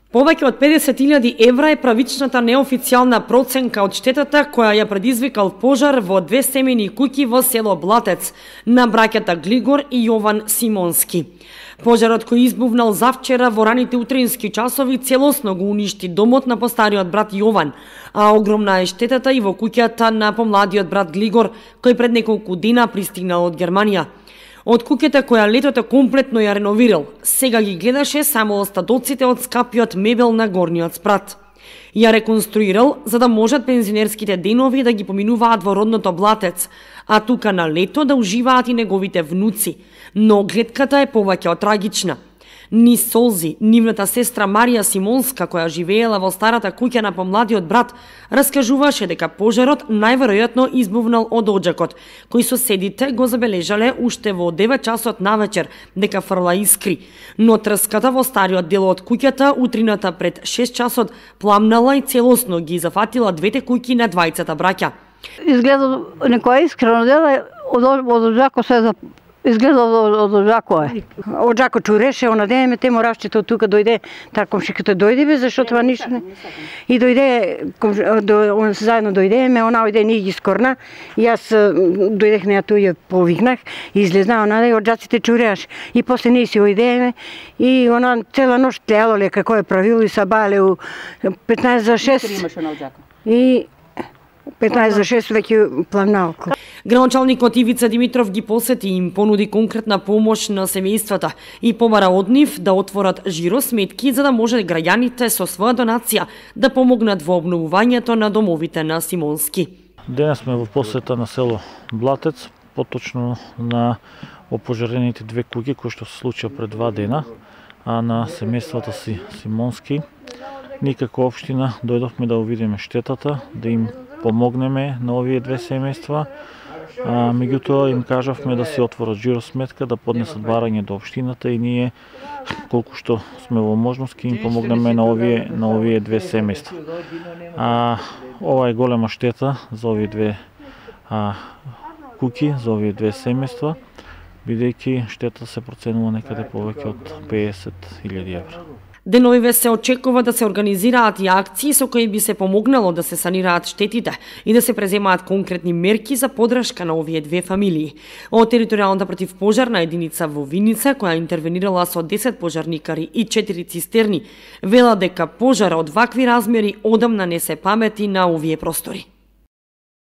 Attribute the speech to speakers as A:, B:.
A: Повеќе од 50.000 евра е правичната неофицијална проценка од штетата која ја предизвикал пожар во две семејни куќи во село Блатец на браќата Глигор и Јован Симонски. Пожарот кој избувнал завчера во раните утрински часови целосно го уништи домот на постариот брат Јован, а огромна е штетата и во куќата на помладиот брат Глигор кој пред неколку дена пристигнал од Германија. Од куќата која летото комплетно ја реновирал, сега ги гледаше само остатоците од скапиот мебел на горниот спрат. Ја реконструирал за да можат пензионерските денови да ги поминуваат во родното Блатец, а тука на лето да уживаат и неговите внуци, но гледката е повеќе од трагична. Низ солзи, нивната сестра Марија Симонска, која живеела во старата куќа на помладиот брат, раскажуваше дека пожарот најверојатно избувнал од оџакот, кој соседите го забележале уште во 9 часот навечер дека фрла искри, но трската во стариот дел од куќата утрината пред 6 часот пламнала и целосно ги зафатила двете куќи на двајцата браќа.
B: Изгледа некоја искрено дела од оџакот се изгледа од оџакот. Оџакот чуреше, она деме те моравчето тука дојде, таа комшиката дојде бе, зашто тоа ништо не. И дојде, заедно дојдеме, она ојде ни ги скорна, и јас дојдех неа тој ја повикнах, и излезна она и оџаците чуреаш. И после ние си ојдеме, и она цела ноќ тлеало ле како е правило и сабале у 15 за 6. И 15 за 6 веќе пламнал.
A: Градоначалникот Ивица Димитров ги посети и им понуди конкретна помош на семејствата и побара од нив да отворат жиросметки за да може граѓаните со своја донација да помогнат во обновувањето на домовите на Симонски.
C: Денес сме во посета на село Блатец, поточно на опожарените две куќи кои што се случија пред 2 дена, а на семејствата Симонски. Ние како општина дојдовме да увидиме штетата, да им помогнеме на овие две семејства. Меѓутоа им кажавме да си отворат жиросметка, да поднесат барање до општината и ние колку што сме во можност ќе им помогнеме на овие две семејства. Ова е голема штета за овие две куќи, за овие две семејства, бидејќи штета се проценува некаде повеќе од 50.000 евра.
A: Деновиве се очекува да се организираат и акции со кои би се помогнало да се санираат штетите и да се преземаат конкретни мерки за поддршка на овие две фамилии. Од територијалната противпожарна единица во Виница, која интервенирала со 10 пожарникари и 4 цистерни, вела дека пожар од вакви размери одамна не се памети на овие простори.